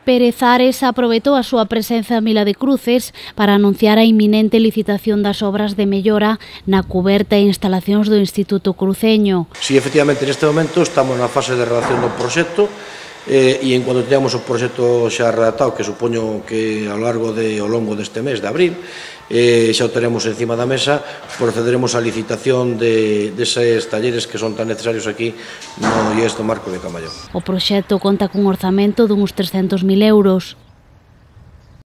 Pérez Ares aproveitou a súa presenza en Vila de Cruces para anunciar a inminente licitación das obras de mellora na cuberta e instalacións do Instituto Cruceño. Si, efectivamente, neste momento estamos na fase de redacción do proxecto e en cuando teñamos o proxecto xa redactado, que supoño que ao longo deste mes de abril, xa o teremos encima da mesa, procederemos á licitación deses talleres que son tan necesarios aquí no IES do Marco de Camallón. O proxecto conta cun orzamento duns 300.000 euros.